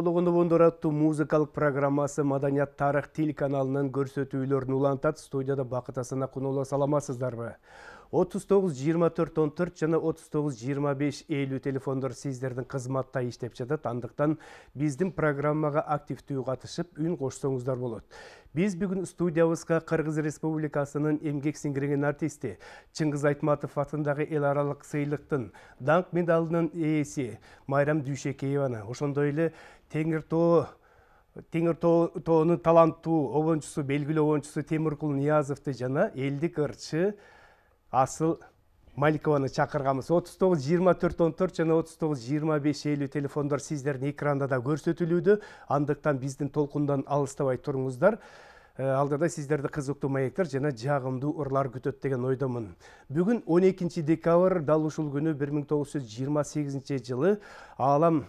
Болгондор аттуу музыкалык программасы Маданият тарых тил каналынын көрсөтүүлөрүн улантат. Студияда Бакыт Асана Куноло, саламатсыздарбы? 39-24-14 жана 39-25-50 телефондор сиздердин кызматта иштеп жатат. Андыктан биздин программага активдүү катышып, үн кошсоңуздар болот. Биз бүгүн студиябызга Кыргыз Республикасынын эмгек сиңирген артисти Чыңгыз Айтматов атындагы эл аралык сыйлыктын даңк медалынын ээси Майрам Дүйшекееваны, ошондой эле Теңир тоонун таланттуу обончусу, белгилүү обончусу Темиркул Ниязовду жана элдик ырчы Асыл Маликованы чакырганбыз. 39-24-14 жана 39-25-50 телефондор сиздердин экранда да көрсөтүлүүдө. Андыктан биздин толкундан алыстабай туруңуздар. Алдыда сиздерди кызыктуу маектер жана жагымдуу ырлар күтөт деген ойдомун. Бүгүн 12 декабрь, дал ушул күнү 1928 жылы Аалам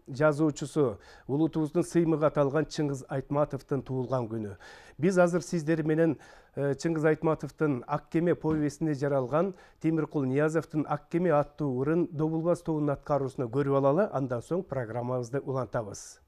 жазуучусу, улутубуздун сыймыгы аталган Чыңгыз Айтматовдун туулган күнү. Биз азыр сиздер менен Чыңгыз Айтматовдун Ак кеме повестинде жаралган Темиркул Ниязовдун Ак кеме аттуу ырын Добулбас тоонун аткаруусуна көрүп алалы, андан соң программабызды улантабыз.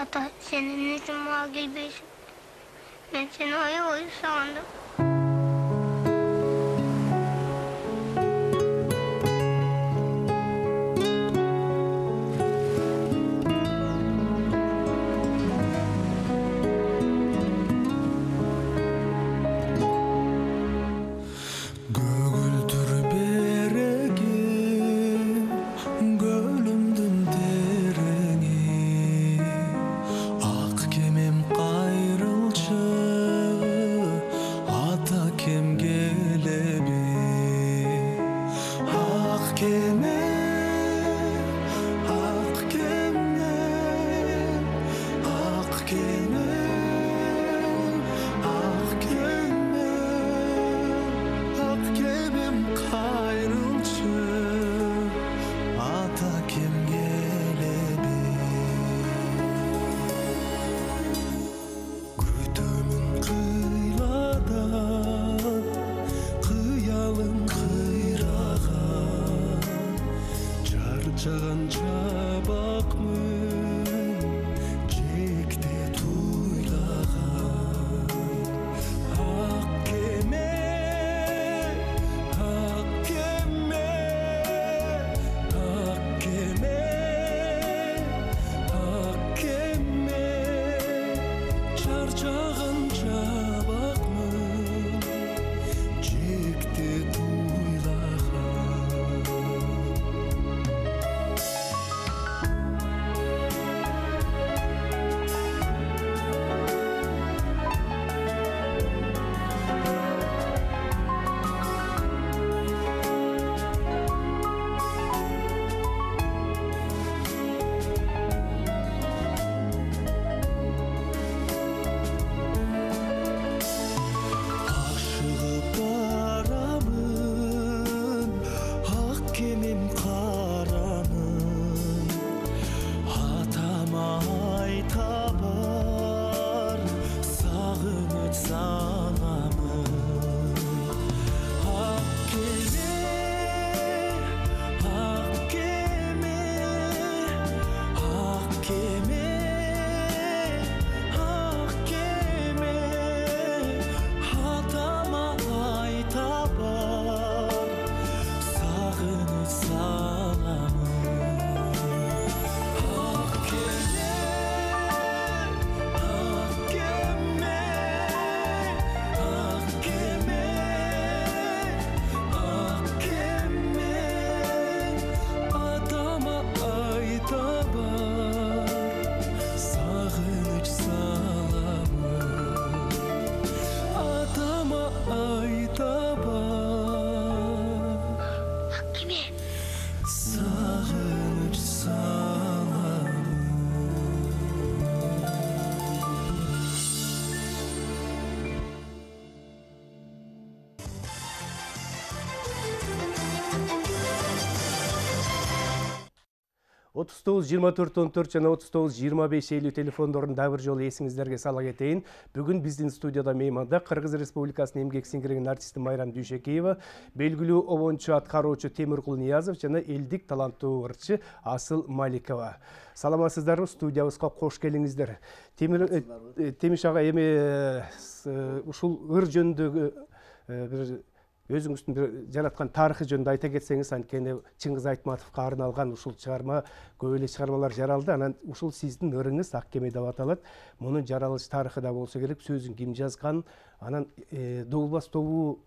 Ата, senin için mal gelbeysin. Ben seni oyu sandım. 39-24-14 жана 39-25-50 телефондорун дагы бир жолу эсиңиздерге сала кетейин. Бүгүн биздин студияда мейманда Кыргыз Республикасынын эмгек сиңирген артисти Майрам Дүйшөкеева, белгилүү обончу аткаруучу Темиркул Ниязов жана элдик таланттуу ырчы Асыл Маликова. Саламатсыздарбы, студиябызга кош келиңиздер. Темиш ага, эми ушул ыр жөнүндөгү бир өзүңүздүн бир жараткан тарыхы жөнүндө айта кетсеңиз, анткени Чыңгыз Айтматовго арналган ушул чыгарма, көп эле чыгармалар жаралды. Анан ушул сиздин ырыңыз Ак кеме деп аталат. Мунун жаралыш тарыхы да болсо керек, сөзүн ким жазган, анан Добулбас тобу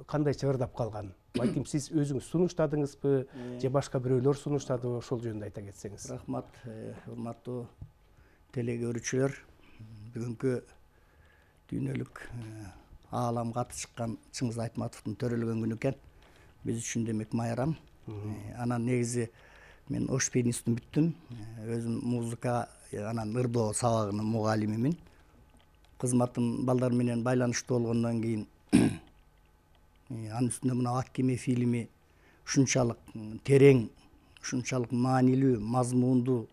кандайча ырдап калган? Балким сиз өзүңүз сунуштадыңызбы, же башка бирөөлөр сунуштадыбы, ошол жөнүндө айта кетсеңиз. Рахмат, урматтуу теле көрүүчүлөр. Бүгүнкү дүйнөлүк ааламга аты чыккан Чыңгыз Айтматовдун төрөлгөн күнү экен. Биз үчүн демек майрам. Анан негизи мен ош пианистин бүттүм. Өзүм музыка, анан ырдоо сабагынын мугалимимин. Кызматым балдар менен байланыштуу болгондон кийин анын үстүнө мына Ак кеме фильми ушунчалык терең, ушунчалык маанилүү, мазмундуу,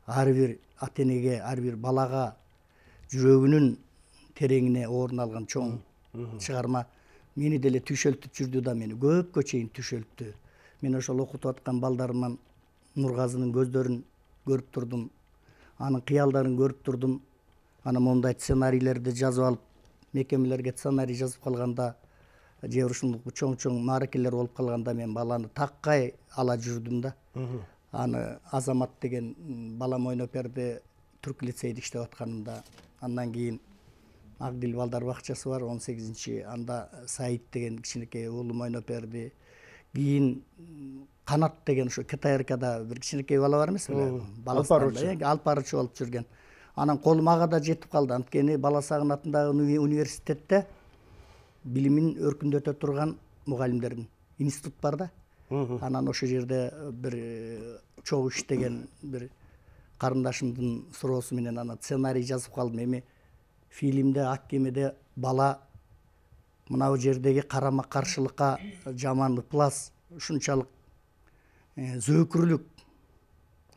ар бир ата энеге, ар бир балага жүрөгүнүн тереңине орун алган чоң чыгарма мени деле түшөлтүп жүрдү да, мени көпкө чейин түшөлттү. Мен ошол окутуп аткан балдарыман Нургазынын көздөрүн көрүп турдум, анын кыялдарын көрүп турдум. Анан мондай сценарийлерди жазып алып, мекемелерге сценарий жазып калганда, же ушундый чоң мааракелер болуп калганда мен баланы таккай ала жүрдүм да. Аны Азамат деген балам ойноп берди, түрк лицейде иштеп атканымда. Андан кийин Агдил балдар бакчасы бар, 18-чи, анда Саид деген кичинекей уулум ойноп берди. Кийин Канат деген ошо КТРКда бир кичинекей бала бар эмес беле? Алып баруучу болуп жүргөн. Анан колум ага да жетип калды. Анткени Бала Сагын атындагы университетте билимин өркүндөтө турган мугалимдердин институт бар да. Анан ошол жерде бир чогуу иштеген бир карындашымдын суроосу менен ана сценарий жазып калдым. Эми фильмде Ак кемеде бала мынау жердеги карама каршылыкка, жаман ыплас, ушунчалык зөөкүрлүк,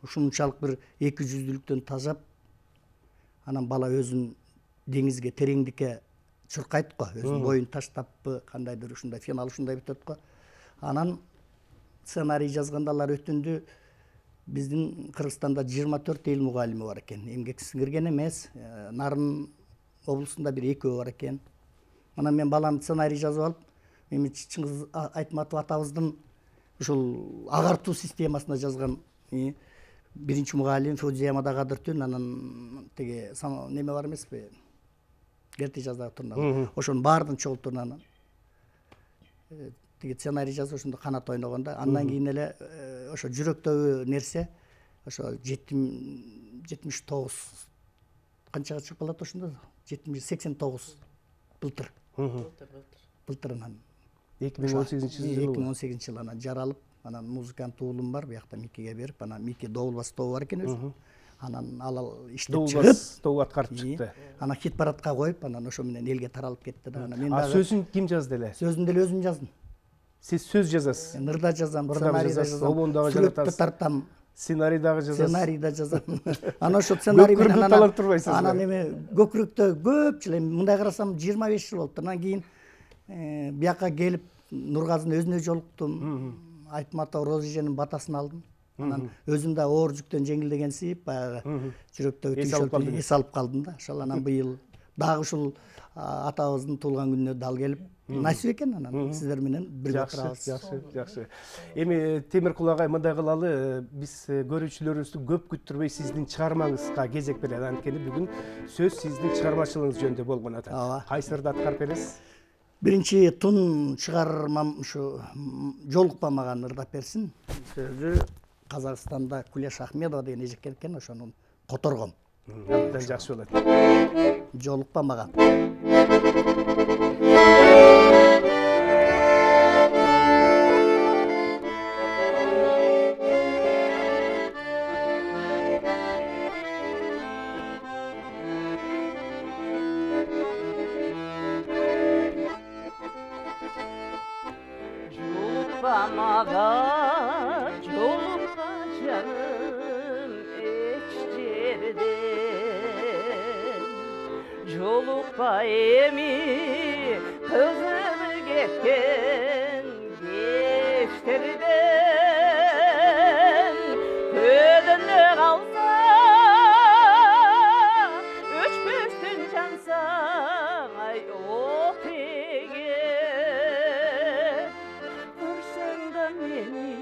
ушунчалык бир эки жүздүүлүктөн тажап, анан бала өзүн деңизге, тереңдикке чуркайт го, өзүнүн боюн таштаппы, кандайдыр ушундай финал ушундай бүтөт го. Анан сценарий жазганда алар өтүндү. Биздин Кыргызстанда 24 эл мугалими бар экен. Эмгек сиңирген эмес, Нарын облусунда бир экөө бар экен. Анан мен баланы сценарий жазып алып, эми Чыңгыз Айтматов атабыздын ушул агартуу системасына жазган биринчи мугалим Фудзия Мадагадыртүн, анан теги неме бар эмеспи? Герти жаздагы турнага. Ошонун баардын чогултурун анан теги сценарий жазып ошондо Канат ойногондо. Андан кийин эле ошо жүрөктөгү нерсе ошо 79 канчага чыгып калат ошондо? 89 былтыр. Былтырынан 2018 жыл анан жаралып, анан музыкант уулум бар, биякта Микиге берип, анан Мики Добулбас тобу бар экен өзү. Анан ал иштеп чыгып, Добулбас тобу аткарып чыкты. Анан хит парадка коюп, анан ошо менен элге таралып кетти да. Анан мен дагы сөзүн ким жазды эле? Сөзүн деле өзүм жаздым. Сиз сөз жазасыз? Мен ырда жазам, сценарий да жазам, обондагы сүрөттү тартам. Сценарий дагы жазасыз? Сценарий да жазам. Анан ошо сценарий менен талант турбайсызбы? анан эме көкүрөктө көп жыл, эми мындай карасам 25 жыл болуптур. Анан кийин бияка келип Нургазынын өзүнө жолуктум. Айтматов Розиженин батасын алдым. Анан өзүм да оор жүктөн жеңилдегенсип, баягы жүрөктөгү түшөлтүп эс алып калдым да. Ошол анан быйыл дагы ушул атабыздын туулган күнүнө дал келип, насип экен, анан сиздер менен бирге турабыз. Жакшы. Эми Темиркул агай, мындай кылалы, биз көрүүчүлөрүбүздү көп күттүрбөй сиздин чыгармаңызга кезек берели. Анткени бүгүн сөз сиздин чыгармачылыгыңыз жөнүндө болгон атат. Кайсы ырды аткарып бересиз? Биринчи тун чыгармам ушу Жолукпа маган ырдап берсин. Сөзү Казакстанда Кулеш Ахмедова деген эжеккен экен, ошонун которгом. Абдан жакшы болот. Жолукпа маган. Жолукпа маган, жолукпа жаным, жолукпай эми кызып кеткен кечтерден көдөнө калса өчпөстөн жансаң ай от эгер көрсөң да мени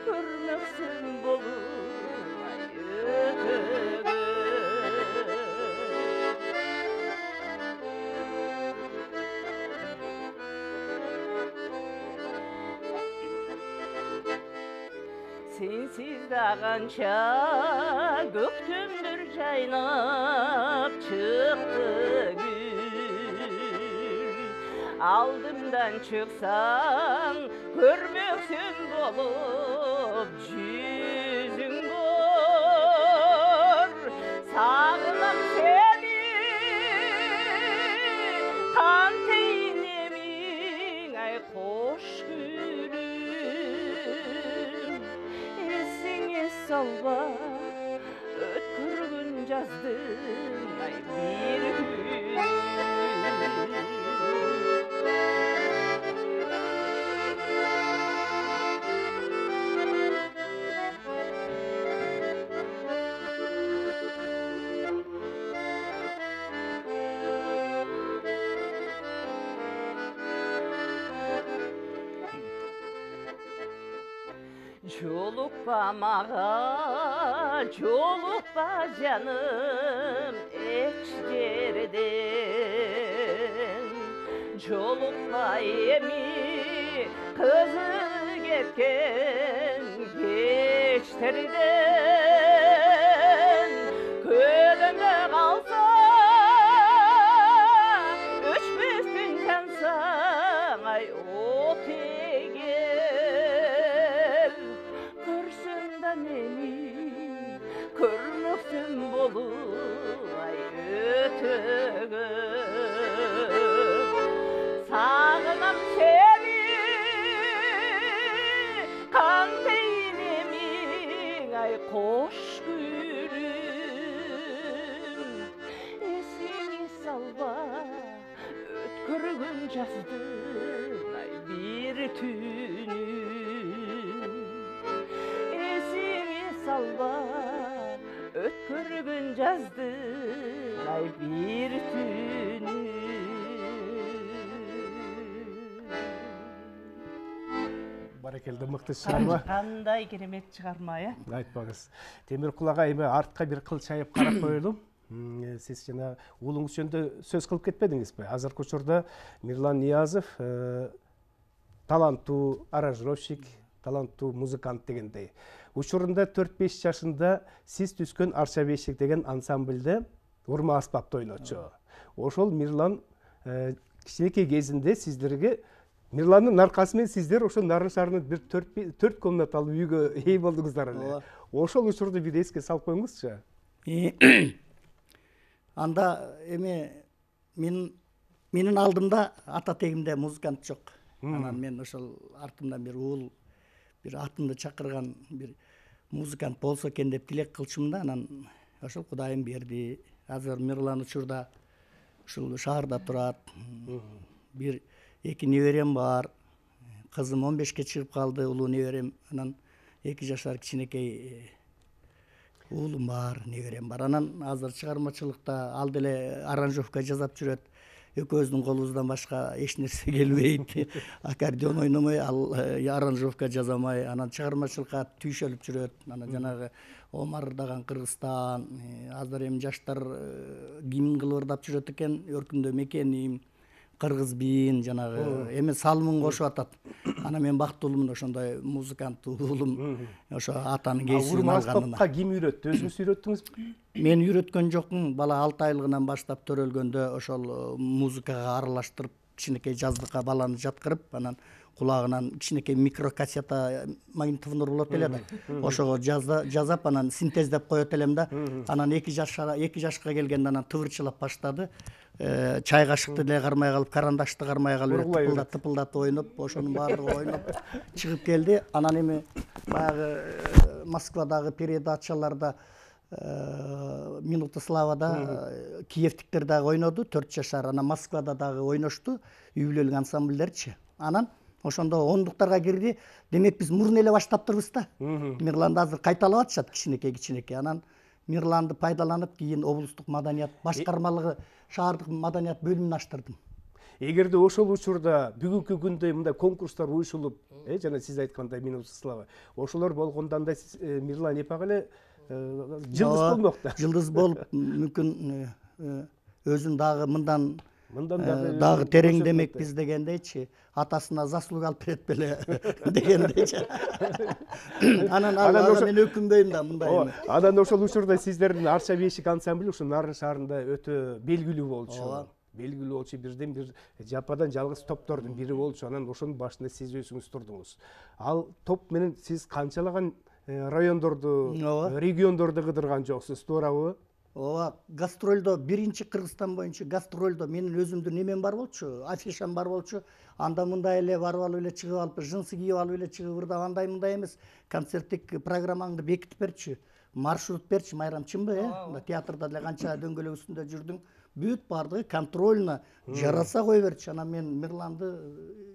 көрмөксүң болуп ай өтөгөн Sensiz de kança göktümdür caynap çıktı gül Aldımdan çıksan görmüksün bolup yüzün gör Sağlam seni kan teynemin ay hoş gülüm Esine salva ötkürgün yazdım ay bir gün Jolukpa mağa, jolukpa canım ekşerden Jolukpa emi kızı ketken geçterden Ködönde kalsa öçmüstün cansan ay ot eger Körsün da meni körmüksün bolup ay ötөгөн Sağlam seni kan teynemin ay koş gülüm Esini salva ötkürgün жаздым ay bir tünüm Esini salva ötkürgün жаздым ay bir tünüm Баракелде, мыкты чыгарма. Кандай керемет чыгарма, э? Айтпаңыз. Темиркул ага эми артка бир кыл чайып карап коелу. Сиз жана уулуңуз жөнүндө сөз кылып кетпедиңизби? Азыркы учурда Мирлан Ниязов таланттуу аранжировщик, таланттуу музыкант дегендей. Учурунда 4-5 жашында сиз түзгөн Арча бешик деген ансамбльде урма аспапта ойночу. Ошол Мирлан кичинекей кезинде сиздерге Мирландын аркасы менен сиздер ошо Нарын шаарынын бир 4 комнаталуу үйгө ээ болдуңуздар эле. Ошол учурду бир эске салып коюңузчу. Анда эми менин алдымда ата тегимде музыкант жок. Анан мен ошол артымдан бир уул бир атымды чакырган бир музыкант болсо экен деп тилек кылчумун да, анан ошол Кудайым берди. Азыр Мирлан учурда ушул шаарда турат. Бир эки неберем бар. Кызым 15ке чыгып калды, улуу неберем. Анан 2 жашар кичинекей уулум бар, неберем бар. Анан азыр чыгармачылыкта ал деле аранжировка жасап жүрөт. Экөөбүздүн колубуздан башка эч нерсе келбейт. Аккордеон ойномой, ал аранжировка жасамай, анан чыгармачылыкка түйшөлүп жүрөт. Анан жанагы Омар даган Кыргызстан, азыр эми жаштар гимн кылып ырдап жүрөт экен, өркүндө мекеним, кыргыз биин жанагы эми салымын кошуп атат. Анан мен бактылуумун ошондой музыкант уулум ошо атанын кесибин алганына. Аспапка ким үйрөттү? Өзүңүз үйрөттүңүзбү? Мен үйрөткөн жокмун. Бала 6 айлыгынан баштап төрөлгөндө ошол музыкага аралаштырып, кичинекей жаздыкка баланы жаткырып, анан кулагынан кичинекей микрокассета магнитофондор болот эле да. Ошого жазап, анан синтездеп коет элем да. Анан 2 жашка келгенде анан тыбырчылап баштады. Чай кашыкты деле кармай калып, карандашты кармай калып, тыпылдатып ойноп, ошонун баардыгы ойноп чыгып келди. Анан эми баягы Москвадагы передачаларда Минута славада киевтиктер дагы ойноду, 4 жашар. Анан Москвада дагы ойношту, үй бүлөлүк ансамбльдерчи. Анан ошондо ондуктарга кирди. Демек биз мурун эле баштаптырбыз да. Мирланды азыр кайталап атышат кичинекей. Анан Мирланды пайдаланып, кийин облустук маданият башкармалыгы, шаардык маданият бөлүмүн аштырдым. Эгерде ошол учурда бүгүнкү күндө мындай конкурстар уюшулуп, жана сиз айткандай Минута слава, ошолор болгондо андай Мирлан эпак эле жылдыз болмок да. Жылдыз болуп, мүмкүн өзүн дагы мындан дагы тереңдемекпиз дегендейчи, атасына заслуга алып берет беле дегендейчи. Анан мен өкүнбөйм да мындай. Анан ошол учурда сиздердин Арча бешик ансамбли ушу Нарын шаарында өтө белгилүү болчу. Белгилүү болчу, бирден бир жападан жалгыз топтордун бири болчу. Анан ошонун башында сиз өзүңүз турдуңуз. Ал топ менен сиз канчалаган райондорду, региондорду кыдырган жоксуз, туурабы? Ооба, гастролдо биринчи Кыргызстан боюнча гастролдо менин өзүмдүн немем бар болчу, афишам бар болчу. Анда мындай эле барып алып эле чыгып алып, жынсы кийип алып эле чыгып ырдап, андай мындай эмес. Концерттик программаңды бекитип берчи, маршрут берчи, Майрам, чынбы, театрда деле канча дөңгөлөк үстүндө жүрдүң. Бүт бардыгы контрольно жараса кой берчи. Анан мен Мирланды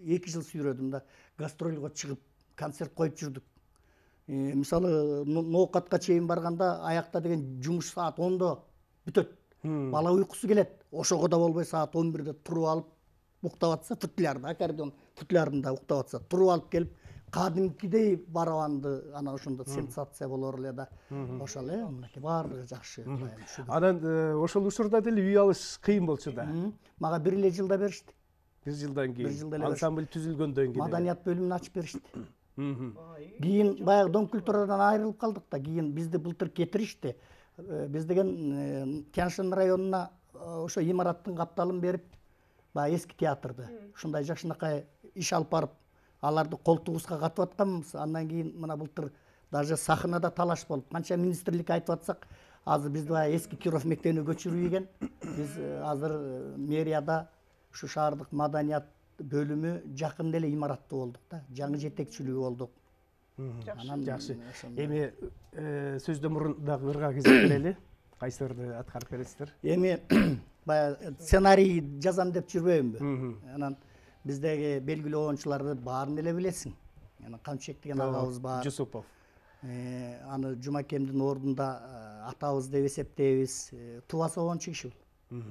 2 жыл сүйрөдүм да, гастролго чыгып концерт коюп жүрдүк. Мисалы, ноокатка чейин барганда аякта деген жумуш саат 10-до бүтөт. Бала уйкусу келет. Ошого да болбой саат 11-де туруп алып уктап атса, футлярда, аккордеон футлярында уктап атса, туруп алып келип, кадимкидей барабанды, анан ошондо сенсация болор эле да. Ошол мынакей баардыгы жакшы. Анан ошол учурда деле үй алыш кыйын болчу да. Мага 1 эле жылда беришти. 1 жылдан кийин. Ансамбль түзүлгөндөн кийин. Маданият бөлүмүнө ачып беришти. Кийин баягы Дом культурадан айрылып калдык да, кийин бизди былтыр кетиришти. Биз деген Тянь-Шань районуна ошо имараттын капталын берип, баягы эски театрды ушундай жакшынакай иш алып барып, аларды колтугубузга катып атканбыз. Андан кийин мына былтыр даже сахнада талаш болуп, канча министрликке айтып атсак, азыр бизди баягы эски Киров мектебине көчүрбөйгөн. Биз азыр мэрияда ушу шаардык маданият бөлүмү жакын эле имаратты болдук да, жаңы жетекчилүү болдук. Жакшы. Эми сөздөн мурун дагы ырга кезек берели. Кайсыларды аткарып бересиздер? Эми баягы сценарий жазам деп жүрбөймүнбү? Анан биздеги белгилүү оюнчуларды баарын эле билесиң. Анан Камчек деген агабыз бар. Жусупов. Аны Жумакемдин ордунда атабыз деп эсептейбиз. Тубасы оюнчу киши бул.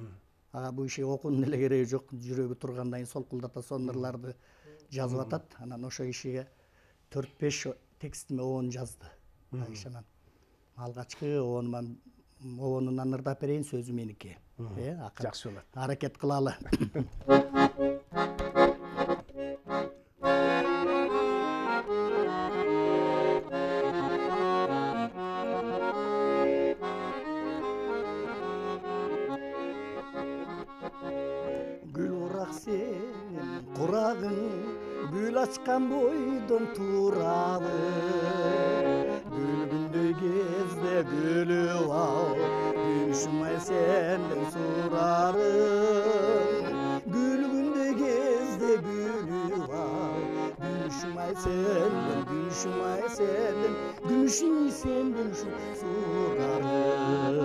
Бул иши окуунун эле кереги жок, жүрөгү тургандан кийин солкулдата сонурларды жазып атат. Анан ошо кишиге 4-5 текстиме оон жазды. Анан алгачкы оонунан ырдап берейин, сөзү меники. Жакшы болот. Аракет кылалы. Курагың гүл ачкан бойдон турабы, гүлгүндөй кезде гүлүп ал, күншумай сенден сурарым. Гүлгүндөй кезде гүлүп ал, күншумай сенден, күншумай сенден сурарым.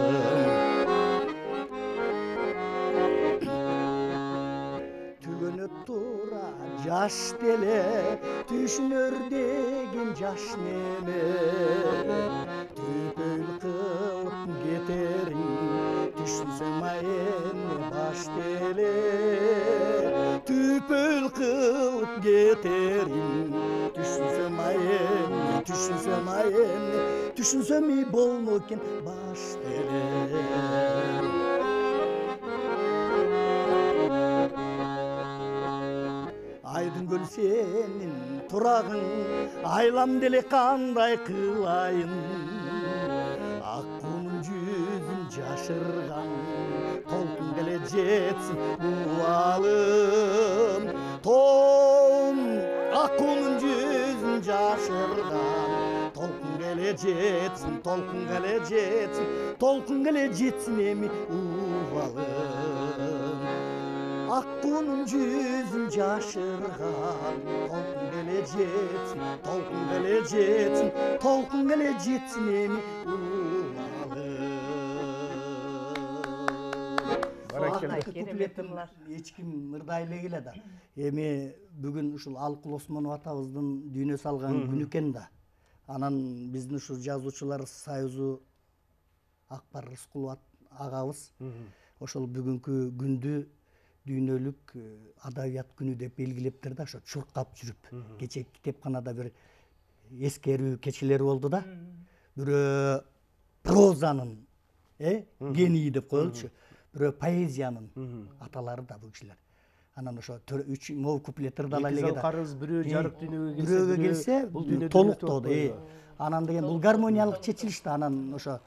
Тура жаш деле түшүнөр деген жаш неме, төпөл кылып кетерин түшүнсөм эми баш деле, төпөл кылып кетерин түшүнсөм эми болмо экен баш деле. Айдын көл сенин турагың, айлам деле кандай кылайын. Ак кумун жүзүн жашырган, толкун деле жетсин убалым. Ак кумун жүзүн жашырган, толкун деле жетсин эми убалым. Ак кунун жүзүн жашырган, толкун деле жетсин эми убалым. алты куплетин эч ким ырдай элегиле да. Эми бүгүн ушул Алкул Осмонов атабыздын дүйнө салган күнү экен да. Анан биздин ушу жазуучулар союзу Акбар Рыскулов агабыз ошол бүгүнкү күндү дүйнөлүк адабият күнү деп белгилептир да. Ошо чуркап жүрүп кечээ китепканада бир эскерүү кечелери болду да. Бирөө прозанын гении деп коелучу, бирөө поэзиянын аталары да бул кишилер. Анан ошо 3 могу куплеттерди ала элек да. Карыз бирөө жарык дүйнөгө келсе, бул дүйнөдө толуктоду. Анан деген бул гармониялык чечилиш да. Анан ошо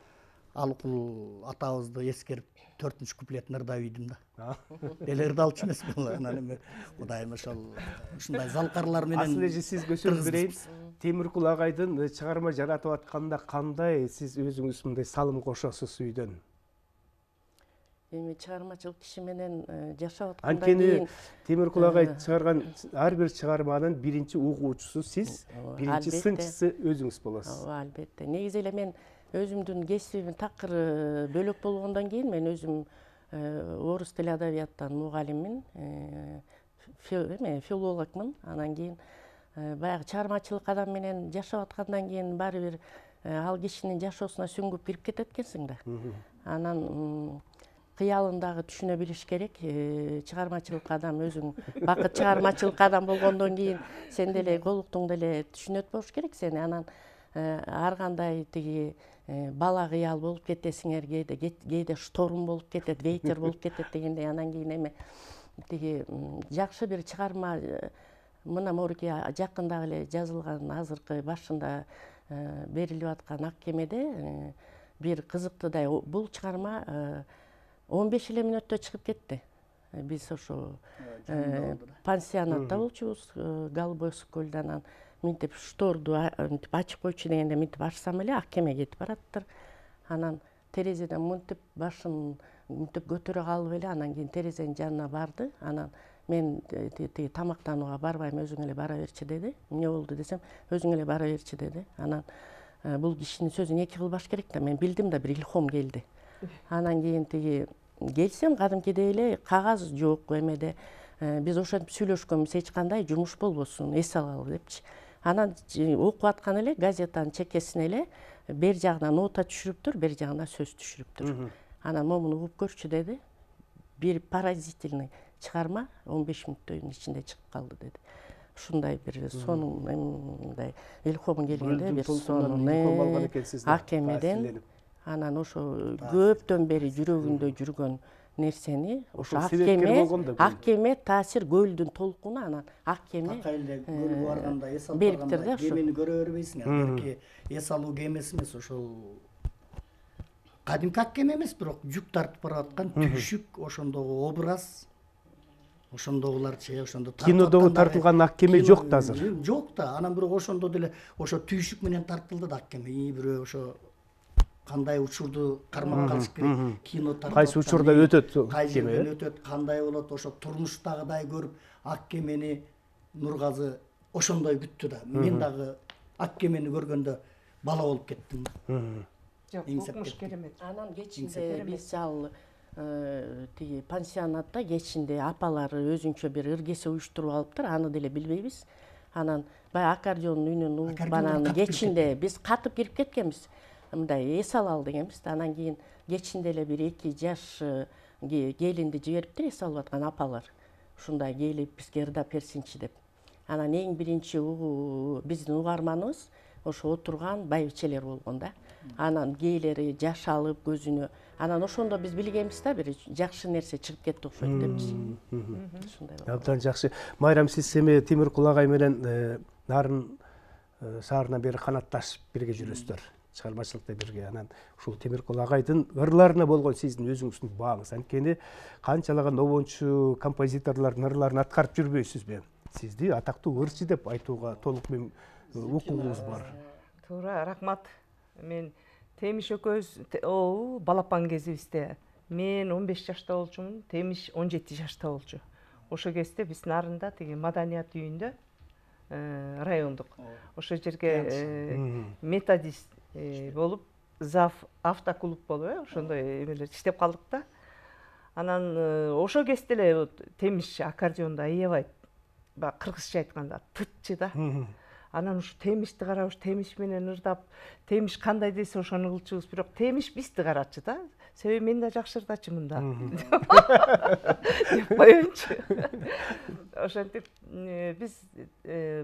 Алкул атабызды эскерип 4-ч куплетин ырдап ийдим да. Деле ырдалчу эмес бул. Анан эми Кудайым ошол ушундай залкарлар менен. Асыл эже сизге сөз берейин. Темиркул агайдын чыгарма жаратып атканда кандай сиз өзүңүз мындай салым кошосуз үйдөн? Эми чыгармачылык киши менен жашап аткандан Анткени кийин Темиркул агай чыгарган ар бир чыгарманын биринчи угуучусу сиз, биринчи сынчысы өзүңүз болосуз. Ооба, албетте. Негизи эле мен өзүмдүн кесибим такыр бөлөк болгондон кийин мен өзүм орус тили адабияттан мугалиммин, филологмун. Анан кийин баягы чыгармачылык адам менен жашап аткандан кийин баары бир ал кишинин жашоосуна сүңгүп кирип кетет экенсиң да. Анан кыялын дагы түшүнө билиш керек. Чыгармачылык адам өзүң бакыт чыгармачылык адам болгондон кийин сен деле колуктуң деле түшүнөт болуш керек сени. Анан ар кандай тиги бала кыял болуп кетесиңер, кээде шторм болуп кетет, ветер болуп кетет дегендей. Анан кийин эми тиги жакшы бир чыгарма мына моруки жакында эле жазылган азыркы башында берилип аткан Ак кемеде бир кызыктуудай бул чыгарма 15 эле мүнөттө чыгып кетти. Биз ошо пансионатта болчубуз Голубой Сокольдо. Анан минтип шторду ачып койчу дегенде минтип ачсам эле Ак кеме кетип бараттыр. Анан терезеден мынтип башын мынтип көтөрө калып эле анан кийин терезенин жанына барды. Анан мен тиги тамактанууга барбайм, өзүң эле бара берчи деди. Эмне болду десем, өзүң эле бара берчи деди. Анан бул кишинин сөзүн эки кылбаш керек да. Мен билдим да, бир илхом келди. Анан кийин тиги келсем кадимкидей эле кагаз жок эмеде. Биз ошентип сүйлөшкөнбүз, эч кандай жумуш болбосун, эс алалы депчи. Анан окуп аткан эле газетанын чекесине эле бер жагынан нота түшүрүптүр, бер жагынан сөз түшүрүптүр. Анан момуну угуп көрчү деди. Бир поразительный чыгарма 15 мүнөттүн ичинде чыгып калды деди. Ушундай бир сонун мындай илхом келгенде бир сонун Ак кемеден. Анан ошо көптөн бери жүрөгүндө жүргөн нерсени ошо Ак кеме таасир көлдүн толкуну. Анан Ак кеме көлгө барганда эс алып барганда кемени көрө бербейсиң. Берки эс алуу кемеси эмес, ошол кадимки Ак кеме эмес, бирок жүк тартып бараткан түйшүк, ошондогу образ, ошондогуларчы, ошондо кинодогу тартылган Ак кеме жок да азыр. Жок да. Анан бирок ошондо деле ошо түйшүк менен тартылды да Ак кеме. Бирөө ошо кандай учурду кармап калыш керек, кино тартып кайсы учурда өтөт кеме өтөт, кандай болот, ошо турмуштагыдай көрүп Ак кемени Нургазы ошондой күттү да. Мен дагы Ак кемени көргөндө бала болуп кеттим. Жок, укмуш керемет. Анан кечинде биз ал тиги пансионатта кечинде апалары өзүнчө бир ыргесе уюштуруп алыптыр, аны деле билбейбиз. Анан баягы аккордеондун үнүн угуп анан кечинде биз катып кирип кеткенбиз. Мындай эс алалы дегенбиз да. Анан кийин кечинде эле бир 2 жаш келинди жибериптир, эс алып аткан апалар. Ушундай келип бизге ырдап берсинчи деп. Анан эң биринчи биздин угарманыбыз ошо отурган байбичелер болгон да. Анан кээлери жаш алып көзүнө. Анан ошондо биз билгенбиз да, бир жакшы нерсе чыгып кетти окшойт депчи. Ушундай. Абдан жакшы. Майрам, сиз эми Темиркул агай менен Нарын шаарынан бери канатташып бирге жүрөсүздөр. Чыгармачылыкта бирге. Анан ушул Темиркул агайдын ырларына болгон сиздин өзүңүздүн бааңыз. Анткени канчалаган обончу композиторлордун ырларын аткарып жүрбөйсүзбү? Сизди атактуу ырчы деп айтууга толук укугуңуз бар. Туура, рахмат. Мен Темиш экөөбүз балапан кезибизде мен 15 жашта болчумун, Темиш 17 жашта болчу. Ошо кезде биз Нарында тиги маданият үйүндө райондук. Ошо жерге методист болуп, зав автоклуб болуп, ошондой эмелер иштеп калдык да. Анан ошо кезде эле Темиш аккордеонду аябай баягы кыргызча айтканда тытчы да. Анан ушу Темишти карап, ушу Темиш менен ырдап, Темиш кандай десе ошону кылчубуз, бирок Темиш бизди карачы да. Себеби мен да жакшы ырдачумун да. Деп коеюнчу. Ошентип биз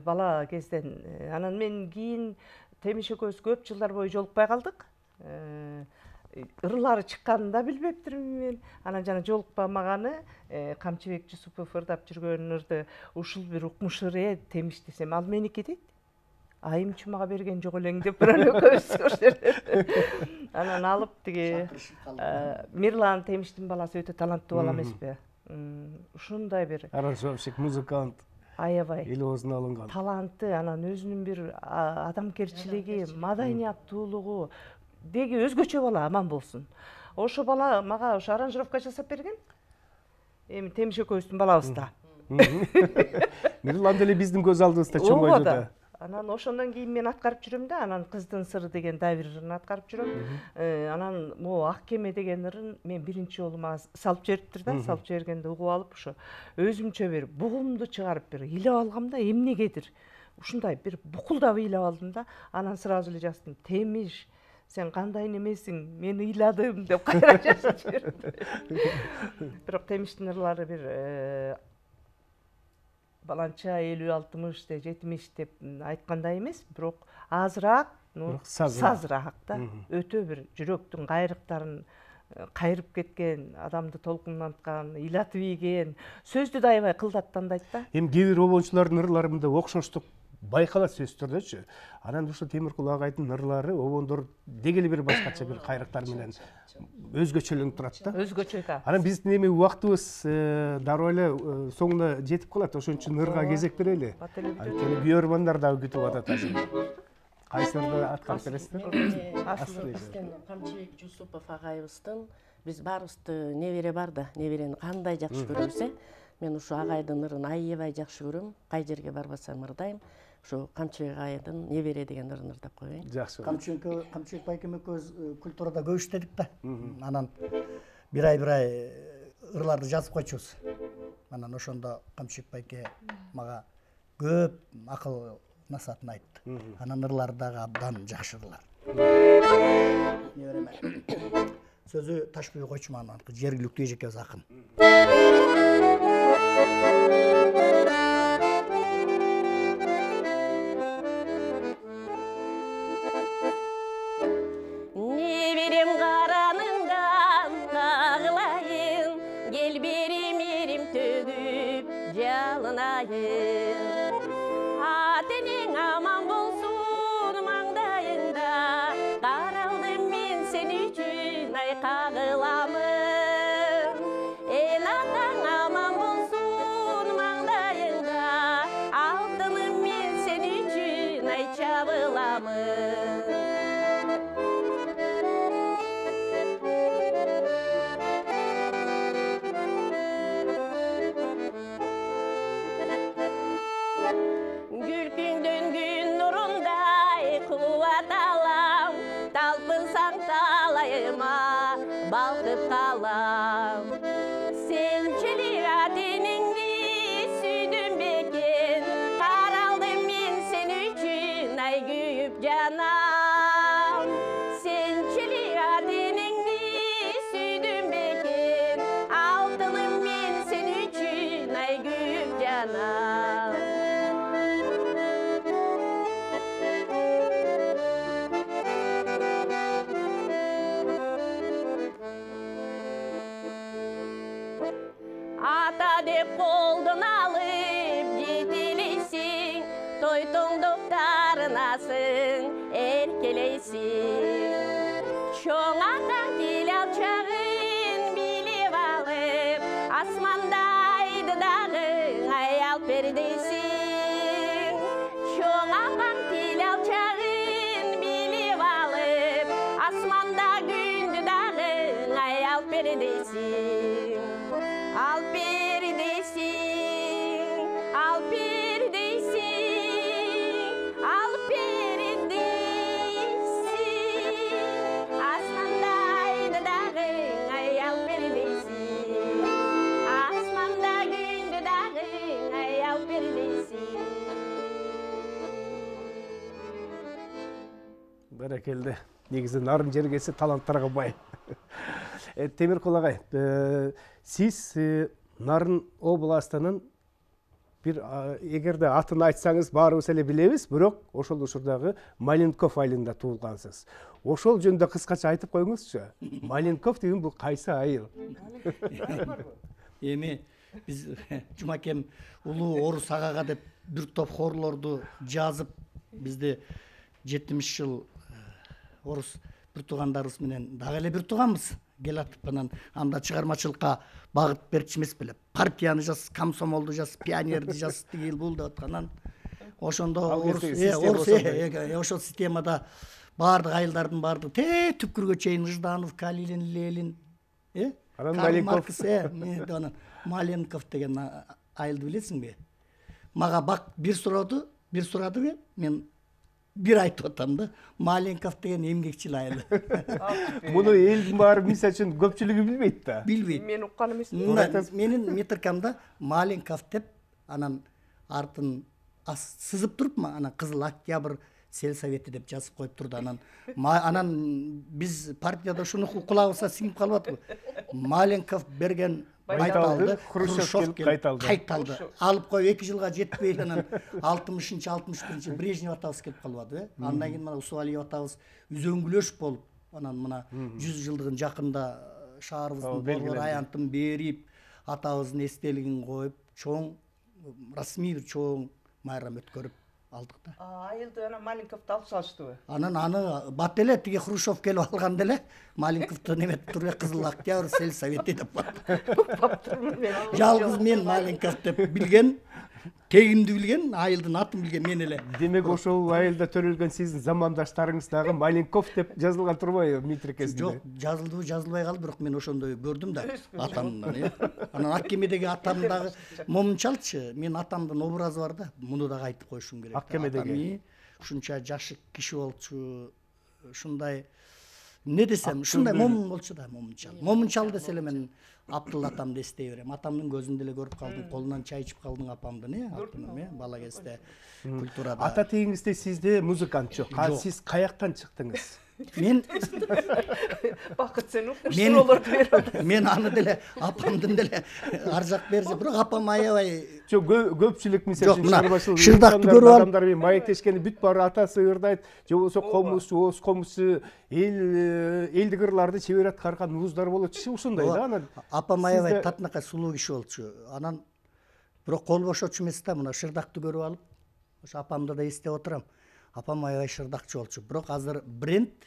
бала кезден анан мен кийин Темиш экөөбүз көп жылдар бою жолукпай калдык. Ырлары чыкканын да билбептирмин мен. Анан жана жолукпамаганы Камчыбек Жусупов ырдап жүргөн ырды ушул бир укмуш ыр Темиш десем, ал меники дейт. Айымчы мага берген жок элең деп бирөө экөөбүз ошол жерде. Анан алып тиги Мирлан Темиштин баласы өтө таланттуу бала эмеспи? Ушундай бир аранжировщик, музыкант. Аябай. Элибоздун алынган. Таланты, анан өзүнүн бир адамгерчилиги, маданияттуулугу деги өзгөчө бала, аман болсун. Ошо бала мага ошо аранжировка жасап берген. Эми Темиш экөөбүздүн балабыз да. Мирлан деле биздин көз алдыбызда чоңойду да. Анан ошондон кийин мен аткарып жүрөм да, анан Кыздын сыры деген да бир ырын аткарып жүрөм. Анан могу Ак кеме деген ырын мен биринчи жолу мага салып жибериптир да, салып жибергенде угуп алып ошо өзүмчө бир бугумду чыгарып бир ыйлап алгам да, эмнегедир. Ушундай бир букулдап ыйлап алдым да, анан сразу эле жаздым: Темиш, сен кандай немесиң, мен ыйладым деп кайра жазып жибердим. Бирок Темиштин ырлары бир баланча 50-60 де 70 деп айткандай эмес, бирок азыраак, сазыраак да. Өтө бир жүрөктүн кайрыктарын кайрып кеткен, адамды толкунданткан, ыйлатып ийген, сөздү да аябай кылдаттандайт да. Эми кээ бир обончулардын ырларында окшоштук байкалат сөз түрдөчү. Анан ушул Темиркул агайдын ырлары обондор деги эле бир башкача бир кайрыктар менен өзгөчөлөнүп турат да. Өзгөчө да. Анан биздин эми убактыбыз дароо эле соңуна жетип калат, ошон үчүн ырга кезек берели. Анткени күйөрмандар дагы күтүп атат азыр. Кайсы ырды аткарып бересиздер? Бизден Камчыбек Жусупов агайыбыздын, биз баарыбызды небере бар да, неберени кандай жакшы көрөбүз. Мен ушу агайдын ырын аябай жакшы көрөм. Кай жерге барбасам ырдайм. Ушу Камчыбек агайдын небере деген ырын ырдап коеюн. Жакшы. Камчыбек байкем экөөбүз культурада көп иштедик да. Анан бир ай ырларды жазып койчубуз. Анан ошондо Камчыбек байке мага көп акыл насаатын айтты. Анан ырлары дагы абдан жакшы ырлар. Небереме сөзү Ташбүй Койчуман, жергиликтүү эжекебиз акын. Неберем караныңдан кагылайын, кел берим эрим төгүп жалынайын. Атенең аман болсун маңдайыңда, каралдым мен сен үчүн ай кагыламын. Атаң аман болсун маңдайыңда, алтыным мен сен үчүн ай чабыламын. Күлкүңдөн күн нурундай кубат алам, талпынсаң талайыма балкып калам. Сенчилик атенеңди сүйдүм бекен, каралдым мен сен үчүн ай күйүп жанам. Сенчилик атенеңди сүйдүм бекен, алтыным мен сен үчүн ай күйүп жанам. Ата деп колдон алып жетелейсиң, той тоңдоп тарынасың, эркелейсиң. Чоң атаң тил алчагын билип алып, асмандайды дагы аял пердейсиң. Чоң атаң тил алчагын билип алып, асманда күндү дагы аял пердейсиң. Ал пердейсиң, ал пердейсиң, ал пердейсиң, асмандайды дагы аял пердейсиң. Баракелде. Негизи нарын жергеси таланттарга бай. Темиркул агай, сиз Нарын областынын бир эгерде атын айтсаңыз баарыбыз эле билебиз, бирок ошол учурдагы Маленков айылында туулгансыз. Ошол жөнүндө кыскача айтып коюңузчу. Маленков деген бул кайсы айыл? Эми биз Жумакем улуу орус агага деп бир топ хорлорду жазып, бизде 70 жыл орус бир туугандарыбыз менен дагы эле бир тууганбыз. Келатып анан анда чыгармачылыкка багыт берчү эмес беле. Партияны жаз, комсомолду жаз, пионерди жаз, тигил бул деп аткандан ошондо ошол системада баардык айылдардын баардыгы түпкүргө чейин Жданов, Калилин, Ленин, анан Маленков, анан Маленков деген айылды билесиңби? Мага бак бир сурадыбы? Мен бир айтып атам да, Маленков деген эмгекчил айыл. Муну элдин баары мисалы үчүн көпчүлүгү билбейт да. Билбейт. Мен уккан эмесмин. Менин метрикамда Маленков деп, анан артын сызып туруп, анан Кызыл Октябрь сельсовети деп жазып коюп турду. Анан биз партияда ушуну кулабыбызга сиңип калып атпы. Маленков берген байталды Хрущев кайталды. Алып коюп 2 жылга жетпей анан 60-61 Брежнев атабыз келип калбады. Андан кийин мына Усвалиев атабыз үзөңгүлөш болуп, анан мына 100 жылдыгын жакында шаарыбыздын борбор аянтын берип, атабыздын эстелигин коюп, чоң расмий бир чоң майрам өткөрүп алдык да. Айылды анан Маленковду алып салыштыбы? Анан аны бат эле тиги Хрущев келип алганда эле Маленковду неметип туруп Кызыл Октябрь сельсовети деп Баптырмын мен. Жалгыз мен Маленков деп билген, тегимди билген, айылдын атын билген мен эле. Демек ошол айылда төрөлгөн сиздин замандаштарыңыз дагы Маленков деп жазылган турбайбы метрикесинде? Жок, жазылдыбы, жазылбай калды, бирок мен ошондой көрдүм да атамдан. Анан Ак кемедеги атам дагы момунчалчы, мен атамдын образы бар да, муну дагы айтып коюшум керек. Ак кемедеги ушунча жашы киши болчу, ушундай эмне десем, ушундай момун болчу да, момунчал. Момунчал десе эле мен Абдул атамды эстей берем. Атамдын көзүндө эле көрүп калдым, колунан чай ичип калдым апамдын, бала кезде культурада. Ата тегиңизде сизде музыкант жок. Сиз каяктан чыктыңыз? Мен Бакыт сен укмуштуулорду берип. Мен аны деле апамдын деле ар жак бери, бирок апам аябай Жок, көпчүлүк мисалы чарбачылык шырдакты көрүп алып адамдар менен маектешкени бүт баары атасы ырдайт, же болбосо комузчу, оз комузчу, элдик ырларды чебер аткарган уздар болчу, ушундай да. Анан апам аябай татынакай сулуу киши болчу. Анан бирок кол бошочу эмес да, мына шырдакты көрүп алып, ошо апамды да эстеп отурам. Апам аябай шырдакчы болчу. Бирок азыр бренд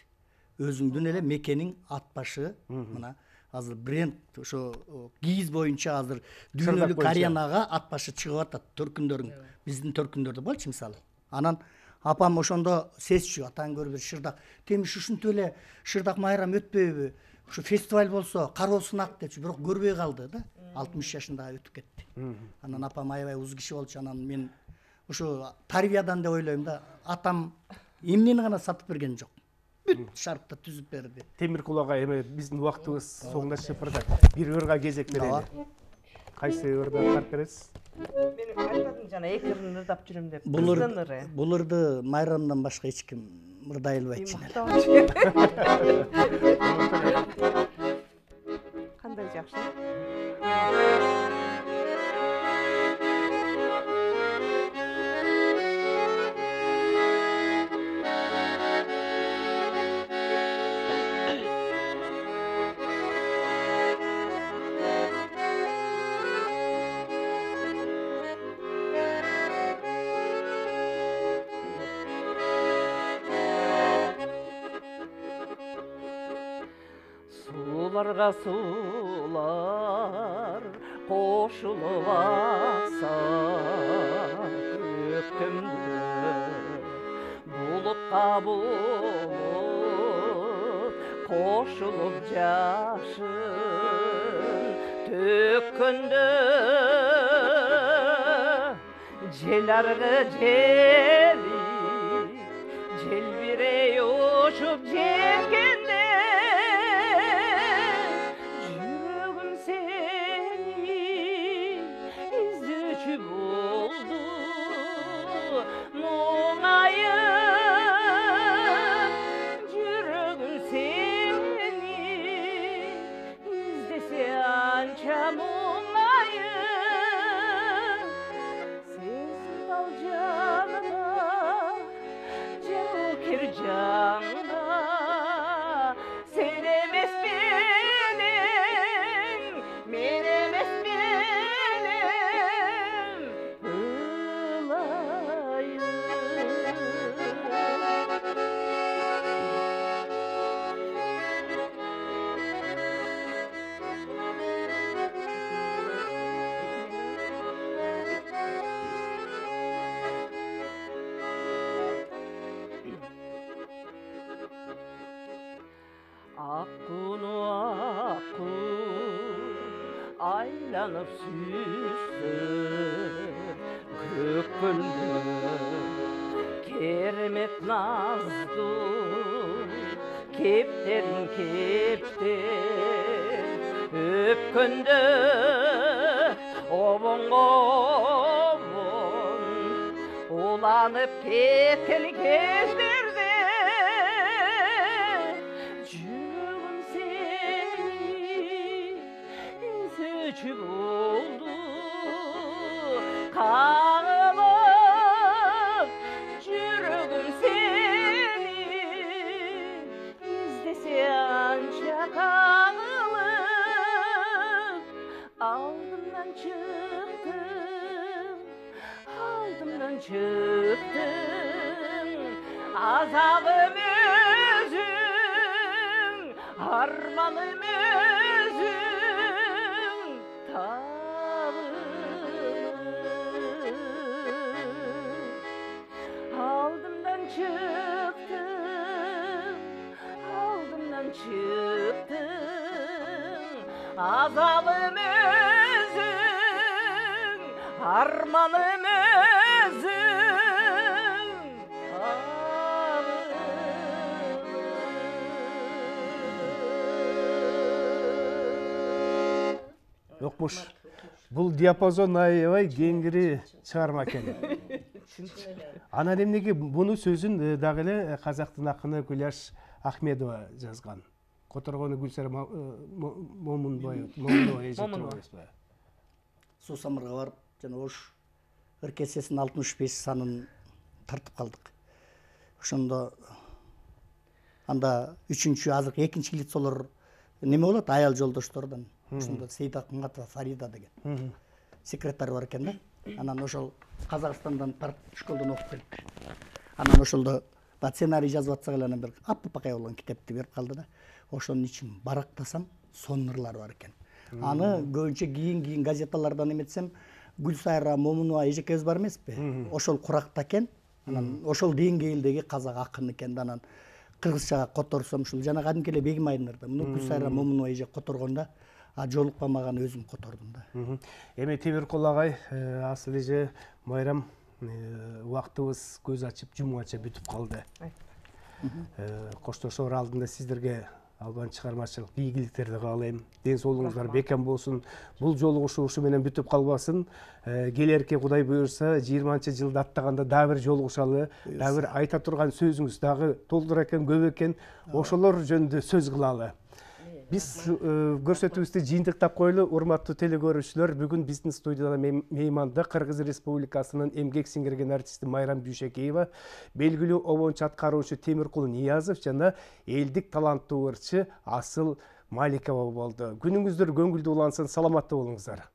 өзүңдүн эле мекениң ат башы, мына азыр бренд ошо кийиз боюнча азыр дүйнөлүк аренага ат башы чыгып атат, төркүндөрүң. Биздин төркүндөрдө болчу мисалы. Анан апам ошондо сезчү, атаң көрүп бир шырдак. Темиш ушинтип эле шырдак майрам өтпөйбү? Ушу фестиваль болсо, кароосун ак депчи, бирок көрбөй калды да. 60 жашында өтүп кетти. Анан апам аябай уз киши болчу. Анан мен ушу тарбиядан деп ойлойм да. Атам эмнени гана сатып берген жок. Бүт шартта түзүп берди. Темиркул агай, эми биздин убактыбыз соңдашып барды. Бир ырга кезек берели. Кайсы ырды аткарып бересиз? Мен айтпадым жана эки ырын ырдап жүрөм деп. Бул ырды майрамдан башка эч ким ырдай албайт. Кандай жакшы. Суларга сулар кошулуп акса, өктөмдө булутка булут кошулуп жашын төккөндө, жел аргы жели желбирей учуп жеткенде, анча мұңайып, сенсіз тал жаныма, жаугер жаңға, сен емес менің, мен емес менің, ылайым. Аққуну аққу айланып сүйсіп көккөлдө керемет назду кептерин кептер өпкөндө обонго обон уланып кеткен кездерде болду каңылып жүрөгүм сени издесе анча каңылып алдымдан чыктым азабым өзүң арманым өзүң aldımdan çıktım, azabım özün, armanım özün, Окмуш. Бул диапазон аябай кеңири чыгарма экен. Анан эмнеге буну сөзүн дагы эле казактын акыны Гүлаш Ахмедова жазган. Которгону Гүлсара Момунова эжетип. Суу самырга барып, жана Ош ыркесесинин 65 санын тартып калдык. Ошондо анда 3-чү азыркы 2-чи лицолор неме болот? Аял жолдоштордон. Ошондо Сейит Акматова Фарида деген секретарь бар экен да. Анан ошол Казакстандан тарт школдон окуп келип. Анан ошолдо сценарий жазып атсак эле анан бир аппакай болгон китепти берип калды да. Ошонун ичин барактасам сон ырлар бар экен. Аны көбүнчө кийин газеталардан эметсем Гүлсайра Момунова эжекебиз бар эмеспи? Ошол куракта экен. Анан ошол деңгээлдеги казак акын экен да. Анан кыргызчага которсом ушул жана кадимки эле Бегим Айнырда муну Гүлсайра Момунова эже которгондо жолукпамаган өзүм котордум да. Эми Темиркул агай, асыл эже Майрам, убактыбыз көз ачып жумганча бүтүп калды. Коштошоор алдында сиздерге албан чыгармачылык ийгиликтерди каалайм. Ден соолугуңуздар бекем болсун. Бул жолугушуу ушу менен бүтүп калбасын. Келерки Кудай буйрса 20-жылды аттаганда дагы бир жолугушалы, дагы бир айта турган сөзүңүз дагы толтур экен, көп экен. Ошолор жөнүндө сөз кылалы. Биз көрсөтүүбүздү жыйынтыктап коелу, урматтуу телекөрүүчүлөр. Бүгүн биздин студияда мейманда Кыргыз Республикасынын эмгек сиңирген артисти Майрам Бүйшекеева, белгилүү обончу аткаруучу Темиркул Ниязов жана элдик таланттуу ырчы Асыл Маликова болду. Күнүңүздөр көңүлдүү улансын, саламатта болуңуздар.